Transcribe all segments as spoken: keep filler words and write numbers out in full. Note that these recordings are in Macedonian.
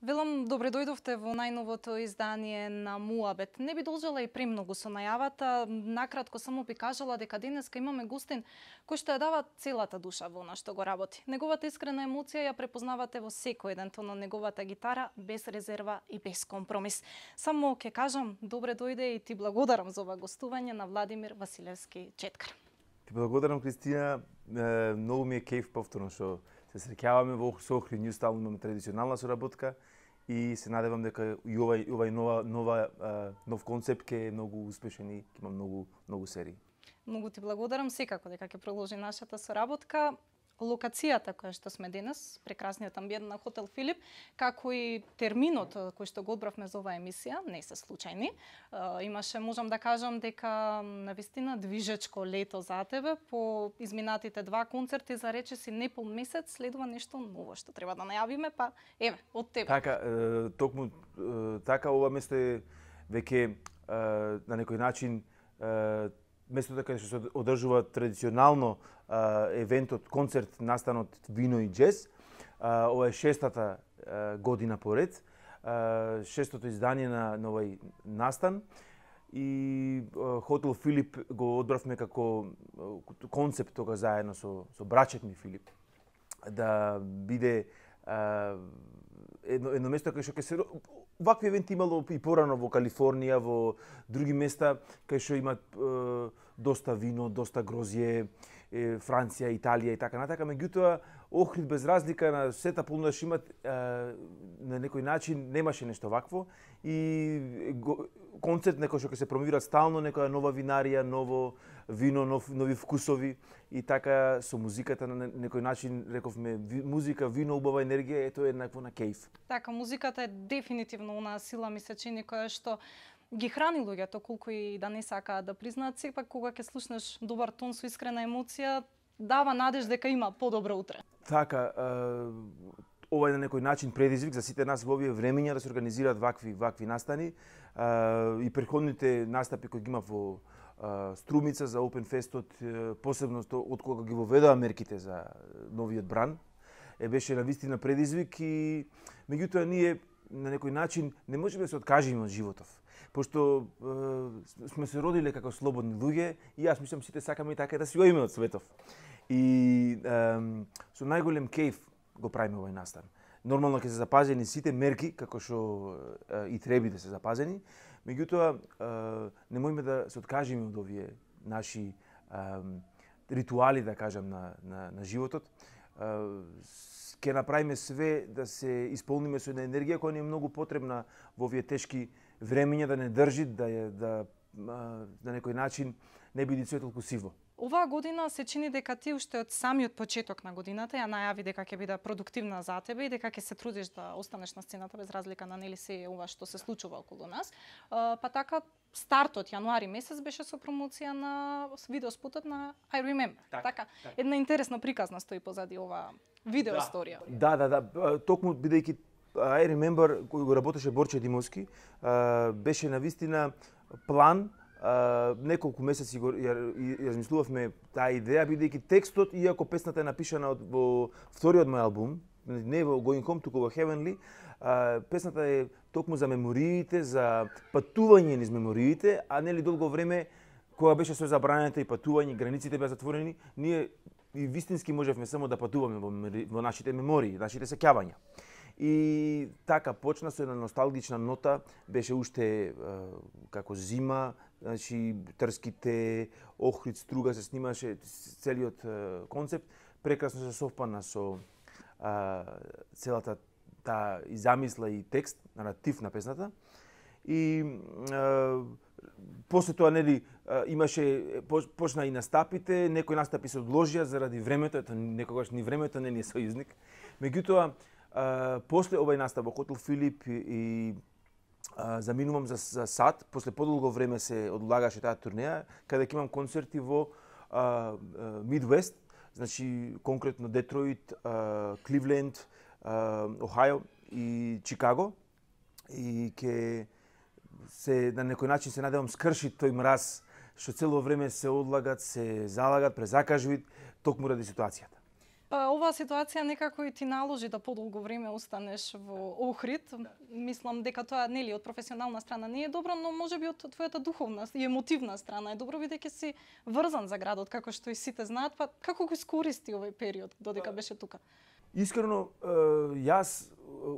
Велам, добре дојдовте во најновото издание на Муабет. Не би должела и премногу со најавата, накратко само би кажала дека денеска имаме гостин кој што ја дава целата душа во она што го работи. Неговата искрена емоција ја препознавате во секој еден тон на неговата гитара, без резерва и без компромис. Само ќе кажам, добре дојде и ти благодарам за ова гостување на Владимир Василевски Четкар. Ти благодарам, Кристина. Многу ми е кејф повторно што се среќаваме во Охрид, ние стално имаме традиционална соработка и се надевам дека и овај овај нова нова нов концепт ќе е многу успешен и ќе има многу многу серии. Многу ти благодарам, секако дека ќе продолжи нашата соработка. Локацијата која што сме денес, прекрасниот амбиент на хотел Филип, како и терминот кој што го одбравме за оваа емисија, не се случајни. Имаше, можам да кажам, дека навистина движечко лето за тебе. По изминатите два концерти за речиси непол месец следува нешто ново што треба да најавиме, па еве, од тебе. Така, токму така ова место е веќе на некој начин местото каде што се одржува традиционално евентот, концерт настанот Вино и джез. Ова е шестата година поред, шестото издание на овој настан и хотел Филип го одбравме како концепт тога заедно со со брачет ми Филип да биде едно едно место кај што ќе се вакви евенти имало и порано во Калифорнија, во други места кај што имат е, доста вино, доста грозје, е, Франција, Италија и така натака, меѓутоа Охрид без разлика на сета понудаш имат е, на некој начин немаше нешто вакво и го, концерт некој што ќе се промовира стално некоја нова винарија, ново вино, нов, нови вкусови и така со музиката на некој начин рековме музика, вино, убава енергија, ето е еднакво на кејф. Така, музиката е дефинитивно онаа сила ми се чини која што ги храни луѓето, колку и да не сакаат да признаат, сепак кога ќе слушнеш добар тон со искрена емоција, дава надеж дека има подобро утре. Така, ова е на некој начин предизвик за сите нас во овие времења да се организираат вакви вакви настани и претходните настапи кои ги има во Струмица за Open Festот, посебно од кога ги воведоа мерките за новиот бран, е беше навистина предизвик и меѓутоа ние на некој начин не можеме да се откажеме од животов. Пошто е, сме се родиле како слободни луѓе и јас мислам сите сакаме и така да си оиме од светов. И е, со најголем кејф го правиме овој настан. Нормално ќе се запазени сите мерки како што е, и треба да се запазени, меѓутоа немојме да се откажеме од овие наши е, ритуали, да кажам, на, на, на животот. Ќе направиме све да се исполниме со една енергија која ни е многу потребна во овие тешки времења, да не држи, да ја да на некој начин не биде се толку сиво. Оваа година се чини дека ти уште од самиот почеток на годината ја најави дека ќе биде продуктивна за тебе и дека ќе се трудиш да останеш на сцената без разлика на нели се ова што се случува околу нас. Па така стартот јануари месец беше со промоција на видеоспотот на I Remember. Так, така, так. една интересна приказна стои позади ова видеоисторија. Да, да, да, токму бидејќи I Remember кој го работеше Борче Димовски, беше навистина план. Uh, неколку месеци го ја, ја размислувавме таа идеја, бидејќи текстот, иако песната е напишана од, во вториот мој албум, не во Going Home, туку во Heavenly, uh, песната е токму за мемориите, за патување низ мемориите, а нели долго време, кога беше со забранета и патување, границите беа затворени, ние и вистински можевме само да патуваме во, во нашите мемории, нашите сеќавања. И така почна со една носталгична нота, беше уште е, како зима, значи Трските, Охрид, Струга се снимаше целиот е, концепт, прекрасно се совпана со а, целата таа и замисла и текст, наратив на песната. И а, после тоа нели имаше почна и настапите, некои настапи се одложија заради времето, ето некогаш ни времето не ни е сојузник. Меѓутоа Uh, после овај настап во хотел Филип и, и uh, заминувам за, за сад, после подолго време се одлагаше таа турнеја, каде ќе имам концерти во Мидвест, uh, uh, значи конкретно Детройт, uh, Кливленд, uh, Охајо и Чикаго. И ќе се на некој начин се надевам скрши тој мраз што цело време се одлагат, се залагат, презакажуваат токму ради ситуацијата. Па оваа ситуација некако и ти наложи да подолго време останеш во Охрид. Мислам дека тоа нели од професионална страна не е добро, но можеби од твојата духовна и емотивна страна е добро бидејќи си врзан за градот, како што и сите знаат. Па како го искористи овој период додека беше тука? Искрено, јас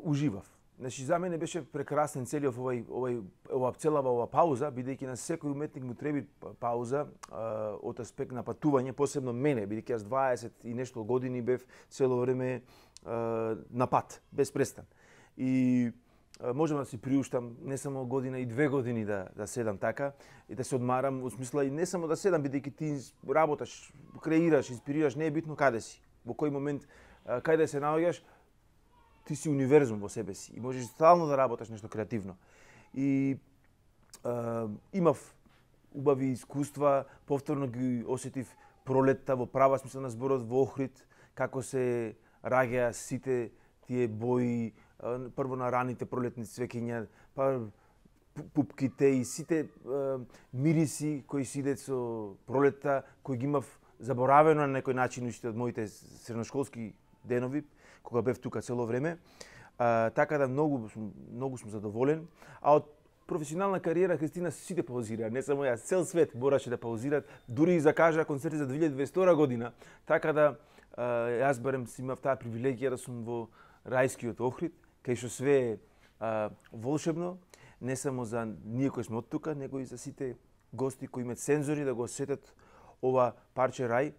уживав. Значи, за мене беше прекрасен целиот овој, овој, ова целава ова пауза, бидејќи на секој уметник му треби пауза а, од аспект на патување, посебно мене, бидејќи јас дваесет и нешто години бев цело време а, на пат, без престан. И а, можам да си приуштам не само година и две години да, да седам така и да се одмарам, во смисла и не само да седам, бидејќи ти работаш, креираш, инспирираш, не е битно каде си, во кој момент, а, каде се наоѓаш, ти си универзум во себе си и можеш стално да работаш нешто креативно. И а, имав убави искуства, повторно ги осетив пролетта во права смисла на зборот во Охрид, како се раѓаа сите тие бои, а, прво на раните пролетни цвеќиња, па пупките и сите а, мириси кои си идат со пролетта, кои ги имав заборавено на некој начин уште од моите средношколски денови, кога бев тука цело време. А, така да многу сум, многу сум задоволен. А од професионална кариера Христина сите паузира, не само јас, цел свет бораше да паузират, дури и закажа концерти за две илјади и дваесет година. Така да а, јас барем си имав таа привилегија да сум во рајскиот Охрид, кај што све е а, волшебно, не само за ние кои сме од тука, него и за сите гости кои имаат сензори да го осетат ова парче рај,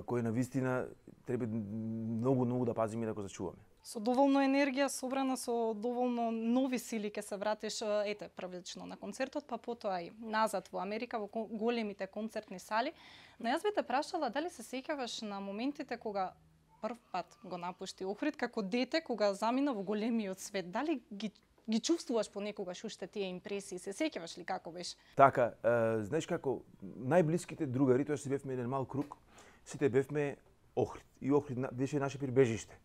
кој навистина треба многу, многу да пазиме и да го зачуваме. Со доволно енергија, собрана со доволно нови сили ќе се вратиш, ете, првично на концертот, па потоа и назад во Америка, во големите концертни сали. Но јас би те прашала дали се сеќаваш на моментите кога прв пат го напушти Охрид како дете, кога замина во големиот свет. Дали ги ги чувствуваш понекогаш уште тие импресии? Се сеќаваш ли како беше? Така, е, знаеш како, најблиските другари, тоа си бевме еден мал круг, сите бевме Охрид. И Охрид беше наше прибежиште.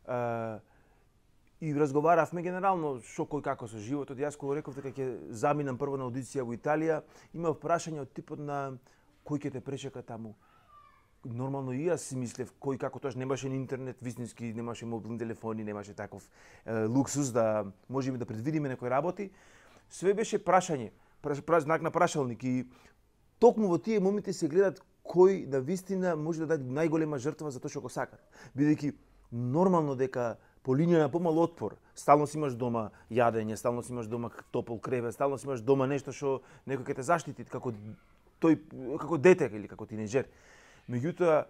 Uh, и разговаравме генерално што кој како со животот. Јас кога реков дека ќе заминам прво на аудиција во Италија, имав прашање од типот на кој ќе те пречека таму. Нормално и јас си мислев кој како, тоаш немаше ни интернет вистински, немаше мобилни телефони, немаше таков е, луксус да можеме да предвидиме некои работи. Све беше прашање, праш, праш, знак на прашалник и токму во тие моменти се гледат кој на вистина може да даде најголема жртва за тоа што го сака. Бидејќи нормално дека по линија на помал отпор, стално си имаш дома јадење, стално си имаш дома топол кревет, стално си имаш дома нешто што некој ќе те заштити како тој како дете или како тинеџер. Меѓутоа,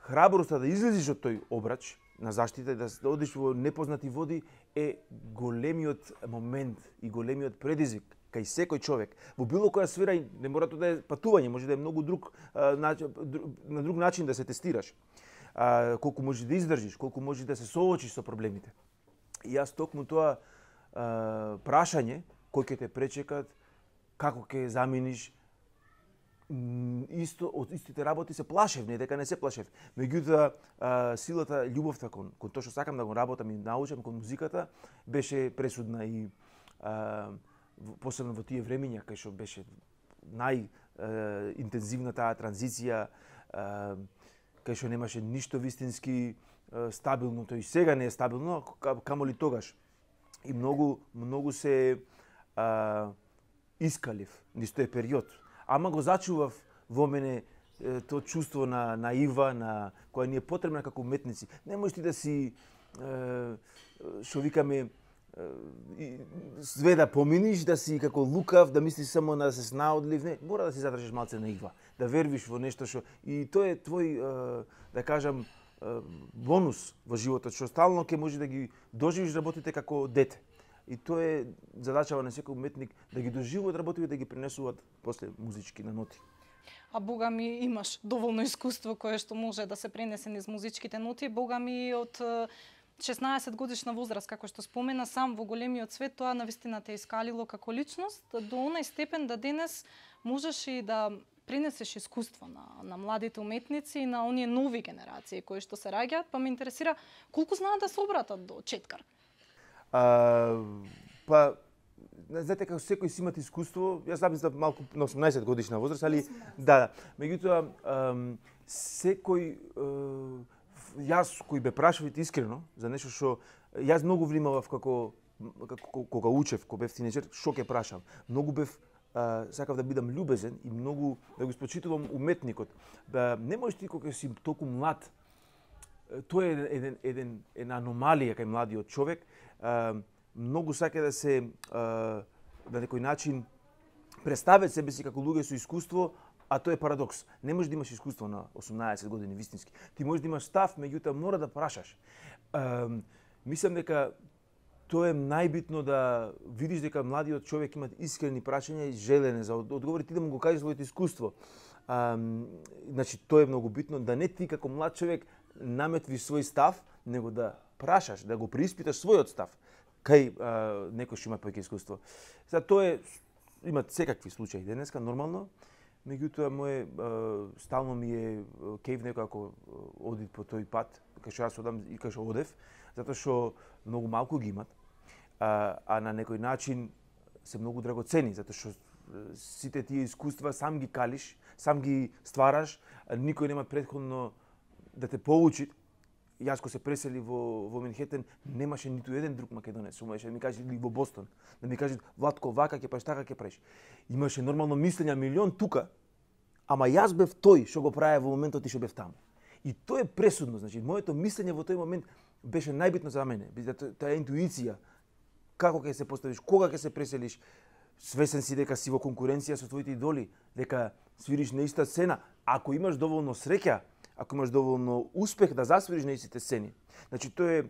храброста да излезеш од тој обрач на заштита, да одиш во непознати води е големиот момент и големиот предизвик кај секој човек. Во било која сфера не мора тоа да е патување, може да е многу друг на друг начин да се тестираш. А, колку можеш да издржиш, колку можеш да се соочиш со проблемите. И јас токму тоа а, прашање, кој ќе те пречекат, како ќе заминиш, исто, од истите работи се плашев, не дека не се плашев. Меѓутоа, силата, љубовта кон, кон тоа што сакам да го работам и научам кон музиката, беше пресудна и а, посебно во тие времиња, кај што беше најинтензивна таа транзиција, а, кај што немаше ништо вистински стабилно, тој и сега не е стабилно, камо ли тогаш. И многу, многу се а, искалив низ тој период. Ама го зачував во мене тоа чувство на наива, на која ни е потребна како уметници. Не можеш ти да си, што викаме, све да поминиш, да си како лукав, да мислиш само на да се снаодлив, не, мора да си задржиш малце наива, да вервиш во нешто што и тоа е твој, да кажам, бонус во животот, што стално ќе може да ги доживиш работите како дете. И тоа е задачава на секој уметник да ги доживуваат работите и да ги пренесуваат после музички на ноти. А бога ми имаш доволно искуство кое што може да се пренесе низ музичките ноти, бога ми од шеснаесет годишна возраст, како што спомена, сам во големиот свет, тоа навистина те искалило како личност, до онај степен да денес можеш и да пренесеш искуство на, на младите уметници и на оние нови генерации кои што се раѓаат, па ме интересира колку знаат да се обратат до четкар? А, па, знаете, како секој си имат искуство, јас замислам малку на осумнаесет годишна возраст, али да, да. Меѓутоа, секој јас кој бе прашавите искрено за нешто што јас многу внимавав како како кога учев, кога бев тинеџер, што ќе прашам. Многу бев а, сакав да бидам љубезен и многу да го испочитувам уметникот. Да не можеш ти кога си толку млад. Тоа е еден еден една аномалија кај младиот човек. А, многу сака да се а, на некој начин представат себе си како луѓе со искуство, а тоа е парадокс. Не можеш да имаш искуство на осумнаесет години вистински. Ти можеш да имаш став, меѓутоа мора да прашаш. А, мислам дека тоа е најбитно да видиш дека младиот човек има искрени прашања и желене за одговори, ти да му го кажеш своето искуство. А, значи, тоа е многу битно, да не ти како млад човек наметви свој став, него да прашаш, да го преиспиташ својот став кај а, некој што има повеќе искуство. Сега тоа е, имат секакви случаи денеска, нормално, меѓутоа моje стално ми е кејв некој ако оди по тој пат, кај што јас одам и кај што одев, затоа што многу малку ги имат, а, а на некој начин се многу драгоцени, затоа што сите тие искуства сам ги калиш, сам ги ствараш, никој нема претходно да те поучи. Јас кога се пресели во во Манхетен, немаше ниту еден друг македонец, умееше да ми каже или во Бостон, да ми каже Владко вака ќе правиш, така ќе правиш. Имаше нормално мислење милион тука, ама јас бев тој што го правев во моментот и што бев таму. И тоа е пресудно, значи моето мислење во тој момент беше најбитно за мене, таа интуиција, како ќе се поставиш, кога ќе се преселиш, свесен си дека си во конкуренција со твоите идоли, дека свириш на иста сцена, ако имаш доволно среќа, ако имаш доволно успех да засвириш на истите сцени. Значи тоа е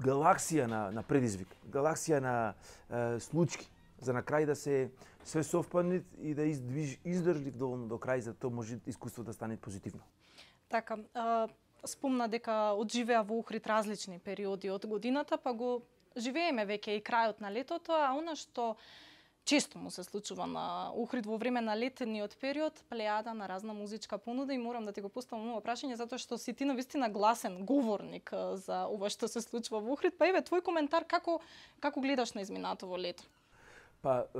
галаксија на на предизвик, галаксија на е, случки, за на крај да се све совпадне и да издвиж издржлив доволно до крај, за тоа може искуството да стане позитивно. Така, а, спомна дека одживеа во Охрид различни периоди од годината, па го живееме веќе и крајот на летото, а она што често му се случува на Охрид во време на летниот период, плејада на разна музичка понуда, и морам да ти го поставам ова прашање затоа што си ти навистина гласен говорник за ова што се случува во Охрид. Па еве твој коментар, како како гледаш на изминатово лето? Па е,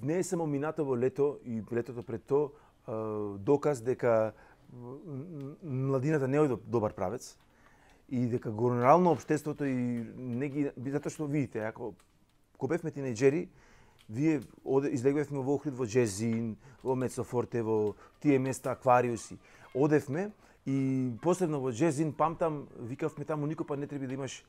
не е само минатово лето и летото пред тоа е, доказ дека младината не е добар правец и дека генерално општеството и не ги, затоа што видите, ако кога бевме тинеџери, вие излегувавме во Охрид, во Джезин, во Мецофорте, во тие места, аквариуси. Одевме и посебно во Джезин, памтам, викавме таму никој па не треба да имаш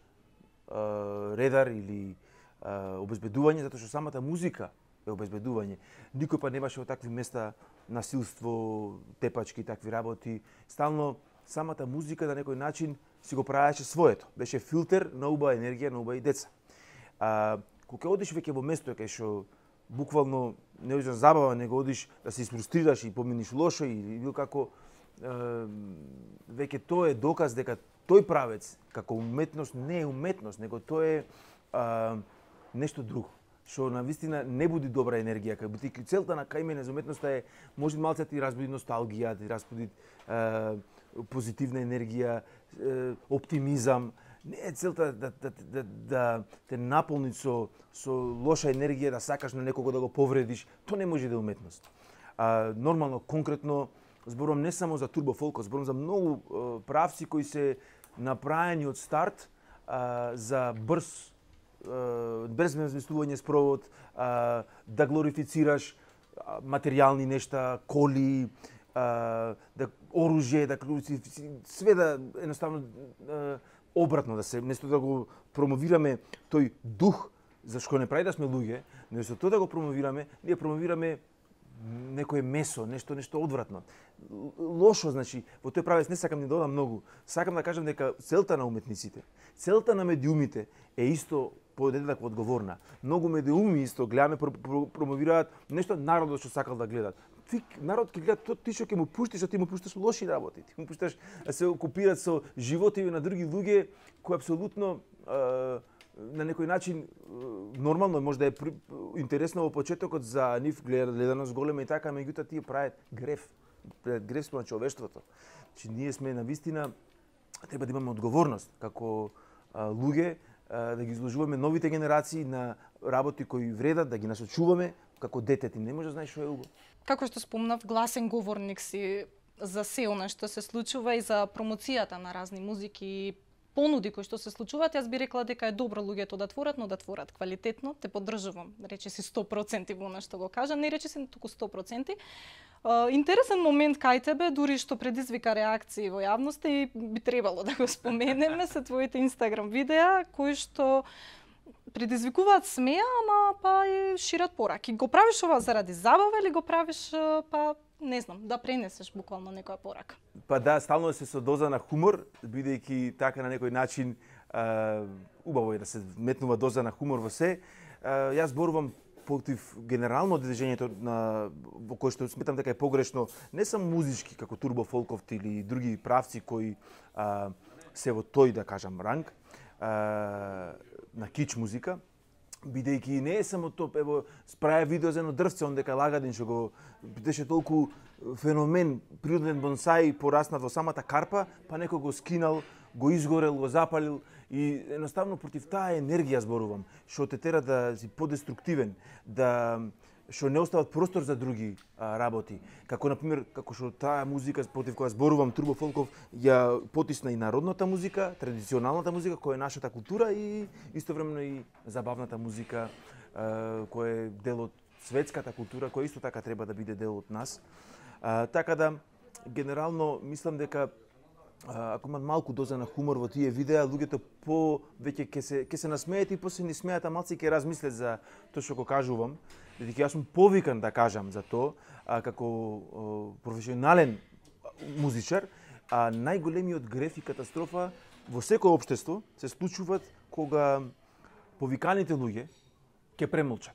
а, редар или а, обезбедување, затоа што самата музика е обезбедување. Никој па немаше во такви места насилство, тепачки и такви работи. Стално самата музика на некој начин си го правеше своето. Беше филтер на убава енергија, на убави деца. А, кога одиш веќе во место кај што буквално не одиш за забава, него одиш да се испрустрираш и поминиш лошо или било како, е, веќе тоа е доказ дека тој правец како уметност не е уметност, него тоа е е нешто друго, што навистина не буди добра енергија. Кај целта на кај мене за уметноста е може малце да ти разбуди носталгија, да ти разбуди е, позитивна енергија, е, оптимизам. Не е целта да, да, да, да те наполни со, со лоша енергија, да сакаш на некого да го повредиш. Тоа не може да е уметност. А, нормално, конкретно, зборувам не само за турбофолк, зборувам за многу е, правци кои се направени од старт а, за брз без размислување спровод, а, да глорифицираш а, материјални нешта, коли, а, да оружје, да све да едноставно а, обратно да се, место да го промовираме тој дух за што не прави да сме луѓе, но со тоа да го промовираме, ние промовираме некое месо, нешто нешто одвратно. Лошо, значи, во тој правец не сакам да додам многу. Сакам да кажам дека целта на уметниците, целта на медиумите е исто подеднакво одговорна. Многу медиуми исто гледаме промовираат нешто народот што сакал да гледат. Ти народ ќе гледа тоа ти што ќе му пуштиш, а ти му пушташ лоши работи. Ти му пушташ да се окупираат со животиви на други луѓе кои апсолутно е, на некој начин нормално може да е интересно во почетокот за нив гледаност голема и така, меѓутоа тие прават греф, греф на човештвото. Значи ние сме навистина треба да имаме одговорност како а, луѓе а, да ги изложуваме новите генерации на работи кои вредат, да ги насочуваме како дете. Ти не може да знаеш што е убаво. Како што спомнав, гласен говорник си. за се она што се случува и за промоцијата на разни музики и понуди кои што се случуваат, јас би рекла дека е добро луѓето да творат, но да творат квалитетно. Те поддржувам, рече си сто проценти во она што го кажам, не рече си туку сто проценти. Uh, интересен момент кај тебе, дури што предизвика реакции во јавноста и би требало да го споменеме, се твоите Инстаграм видеа кои што предизвикуваат смеа, ама па и шират пораки. Го правиш ова заради забава или го правиш па не знам, да пренесеш буквално некоја порака? Па да, стално се со доза на хумор, бидејќи така на некој начин а, убаво е да се метнува доза на хумор во се. А, јас зборувам против генерално движењето на во кое што сметам дека е погрешно, не само музички како турбо фолковт или други правци кои а, се во тој да кажам ранг а, на кич музика, бидејќи не е само тоа, ево, справя видео за едно дрвце, он дека лагадин што го беше толку феномен, природен бонсај пораснат во самата карпа, па некој го скинал, го изгорел, го запалил и едноставно против таа енергија зборувам, што те тера да си подеструктивен, да што не остават простор за други а, работи. Како например, како што таа музика против која зборувам Турбо Фолков ја потисна и народната музика, традиционалната музика која е нашата култура и истовремено и забавната музика а, која е дел од светската култура, која исто така треба да биде дел од нас. А, така да генерално мислам дека ако имат малку доза на хумор во тие видеа, луѓето повеќе ќе се ќе се насмеат и после не смеат, а малци ќе размислат за тоа што го кажувам. Бидејќи јас сум повикан да кажам за тоа, а, како а, професионален музичар, а најголемиот греф и катастрофа во секој општество се случуваат кога повиканите луѓе ќе премолчат.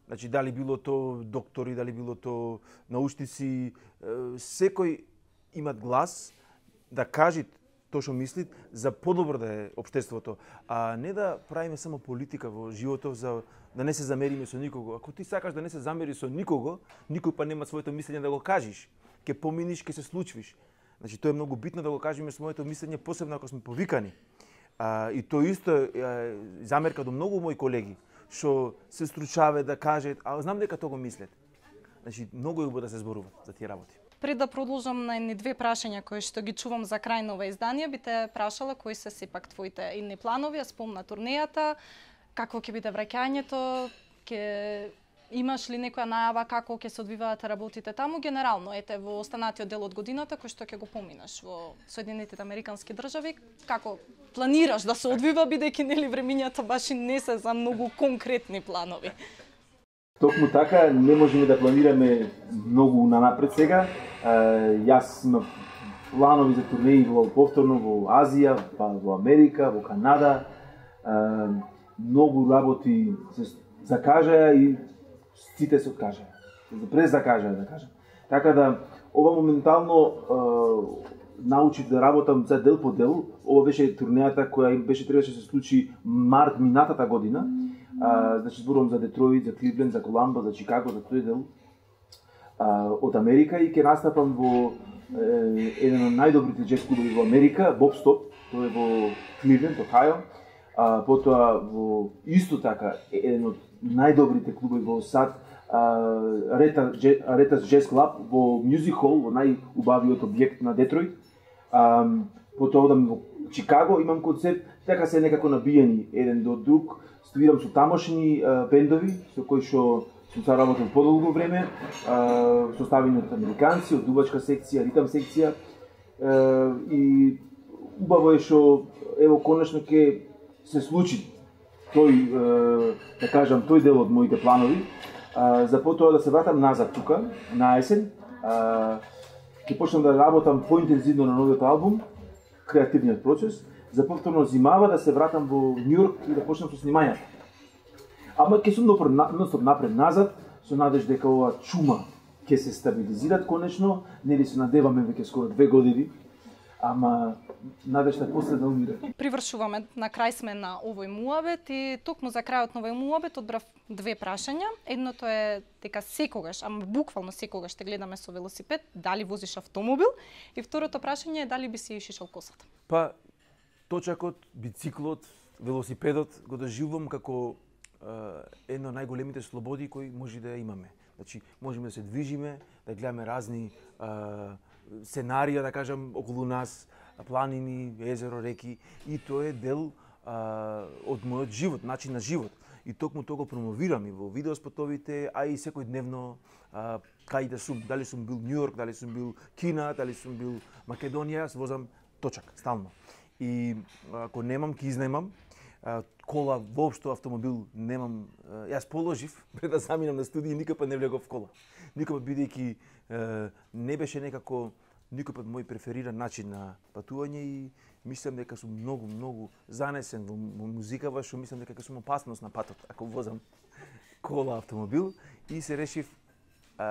Значи дали било то доктори, дали било то научници, секој имат глас да кажат тоа што мислит за подобро да е општеството, а не да правиме само политика во животот за да не се замериме со никого. Ако ти сакаш да не се замери со никого, никој па нема своето мислење да го кажеш. Ке поминиш, ке се случвиш. Значи тоа е многу битно да го кажеме своето мислење, посебно ако сме повикани. А, и тоа исто е замерка до многу мои колеги што се стручаве да кажат, а знам дека тоа го мислат. Значи многу е убаво да се зборува за тие работи. Пред да продолжам на едни две прашања кои што ги чувам за крај на ова издание, би те прашала кои се сепак твоите идни планови, а спомна турнејата, какво ќе биде враќањето, ќе имаш ли некоја најава како ќе се одвиваат работите таму генерално, ете во останатиот дел од годината кој што ќе го поминаш во Соединетите Американски држави, како планираш да се одвива бидејќи нели времињата баш и не се за многу конкретни планови? Токму така, не можеме да планираме многу нанапред сега. Јас имам планови за турнеи во повторно во Азија, па во Америка, во Канада. Многу работи се закажаја и сите се откажаја. Се презакажаја, да кажам. Така да, ова моментално научив да работам за дел по дел. Ова беше турнејата која беше требаше да се случи март минатата година. А, значи зборувам за Детройт, за Кливленд, за Коламбо, за Чикаго, за тој дел а, од Америка и ќе настапам во е, еден од најдобрите джез клубови во Америка, Bob Stop, тој е во Кливленд, Охајо. А, потоа во исто така еден од најдобрите клубови во САД, Аретас Джез Клаб во Мюзик Хол, во најубавиот објект на Детройт. А, потоа одам во Чикаго, имам концерт, така се некако набиени еден до друг. Студирам со тамошни а, бендови, со кои што сум соработил подолго време, а, составени од американци, од дувачка секција, ритам секција. А, и убаво е што ево конечно ќе се случи тој, а, да кажам, тој дел од моите планови. А, за потоа да се вратам назад тука, на есен. А, ќе почнам да работам поинтензивно на новиот албум, креативниот процес. За повторно зимава да се вратам во Њујорк и да почнам со снимањата. Ама ќе сум нон-стоп напред-назад, со надеж дека ова чума ќе се стабилизират конечно, нели се надеваме веќе скоро две години, ама надежта после да умира. Привршуваме, на крај сме на овој муабет и токму за крајот на овој муабет одбрав две прашања. Едното е дека секогаш, ама буквално секогаш те гледаме со велосипед, дали возиш автомобил, и второто прашање е дали би си шишал косата. Па точакот, бициклот, велосипедот го доживувам како е, една од најголемите слободи кои може да ја имаме. Значи, можеме да се движиме, да гледаме разни е, сценарија, да кажам, околу нас, планини, езеро, реки, и тоа е дел а, од мојот живот, начин на живот. И токму тоа го промовирам и во видеоспотовите, а и секојдневно а, кај да сум, дали сум бил Њу Йорк, дали сум бил Кина, дали сум бил Македонија, јас возам точак, стално. И ако немам, ќе изнајмам, кола, воопшто автомобил немам. Јас положив пред да заминам на студија, никој пат не влегов в кола. Никој пат бидејќи не беше некако никој пат мој префериран начин на патување и мислам дека сум многу многу занесен во музикава, што мислам дека сум опасност на патот ако возам кола, автомобил, и се решив а,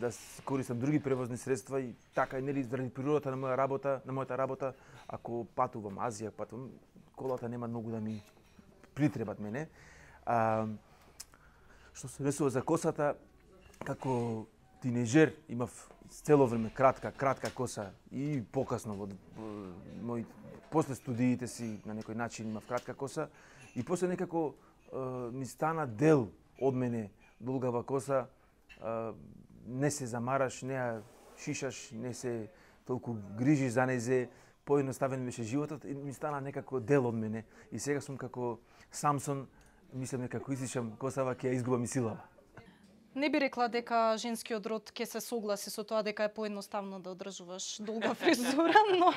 да користам други превозни средства и така, нели, заради природата на моја работа, на мојата работа, ако патувам Азија, патувам, колата нема многу да ми притребат мене. А, што се ресува за косата, како тинејџер имав цело време кратка, кратка коса и покасно во мој после студиите си на некој начин имав кратка коса и после некако е, ми стана дел од мене долгава коса, е, не се замараш, не ја шишаш, не се толку грижиш за незе, поедноставен беше животот и ми стана некако дел од мене. И сега сум како Самсон, мислам дека ако исичам косава ќе ја изгубам и силава. Не би рекла дека женскиот род ќе се согласи со тоа дека е поедноставно да одржуваш долга фризура, но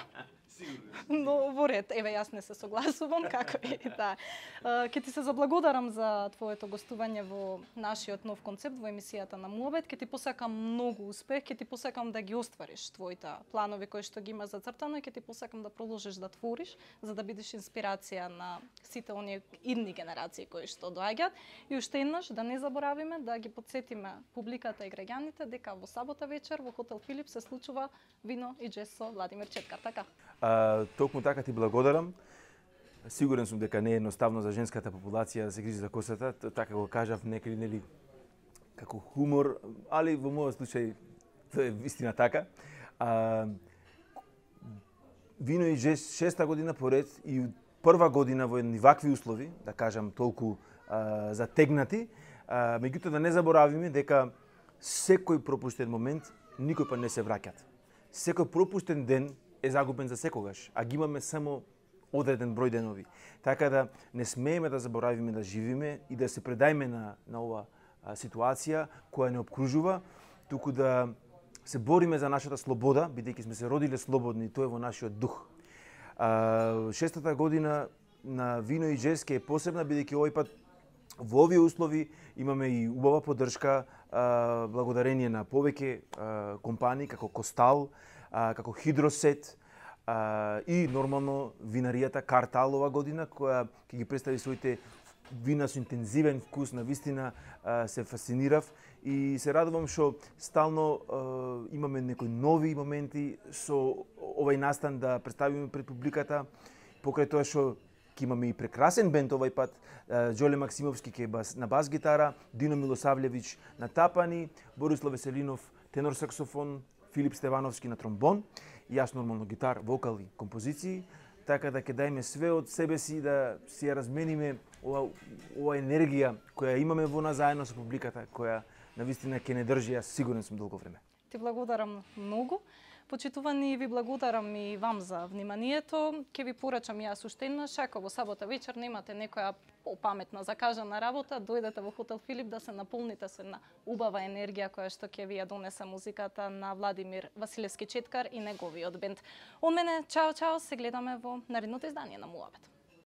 но во ред, еве јас не се согласувам, како и да. Ќе ти се заблагодарам за твоето гостување во нашиот нов концепт во емисијата на Муабет. Ќе ти посакам многу успех, ќе ти посакам да ги оствариш твоите планови кои што ги има зацртано и ќе ти посакам да продолжиш да твориш за да бидеш инспирација на сите оние идни генерации кои што доаѓаат. И уште еднаш да не заборавиме да ги потсетиме публиката и граѓаните дека во сабота вечер во хотел Филип се случува вино и џез со Владимир Четкар, така? А, токму така ти благодарам. Сигурен сум дека не е едноставно за женската популација да се грижи за косата, така го кажав некаде, нели, како хумор, али во мојот случај тоа е вистина така. А, вино и џез шеста година поред и прва година во едни вакви услови, да кажам толку а, затегнати, а, меѓутоа да не заборавиме дека секој пропуштен момент никој па не се враќат. Секој пропуштен ден е загубен за секогаш, а ги имаме само одреден број денови. Така да не смееме да заборавиме да живиме и да се предајме на, на ова а, ситуација која не обкружува, туку да се бориме за нашата слобода, бидејќи сме се родиле слободни, тоа е во нашиот дух. А, шестата година на вино и џез е посебна, бидејќи овој пат во овие услови имаме и убава поддршка, а, благодарение на повеќе а, компании како Костал, а, како Хидросет, а, и нормално винаријата Картал ова година, која ќе ги представи своите вина со интензивен вкус, на вистина а, се фасцинирав и се радувам што стално а, имаме некои нови моменти со овај настан да представиме пред публиката, покрај тоа што ќе имаме и прекрасен бенд овај пат, Џоле Максимовски ќе бас, на бас гитара, Дино Милосављевиќ на тапани, Борислав Веселинов тенор саксофон, Филип Стевановски на тромбон, јас нормално гитар, вокал и композиции, така да ќе дајме све од себе си да си ја размениме ова, ова енергија која имаме во нас заедно со публиката, која навистина ќе не држи, јас сигурен сум долго време. Ти благодарам многу. Почитувани, ви благодарам и вам за вниманието. Ке ви порачам јас уште еднаш, ако во сабота вечер немате некоја попаметна закажана работа, дојдете во хотел Филип да се наполните со една убава енергија која што ќе ви ја донесе музиката на Владимир Василевски Четкар и неговиот бенд. Од мене, чао, чао, се гледаме во наредното издание на Муабет.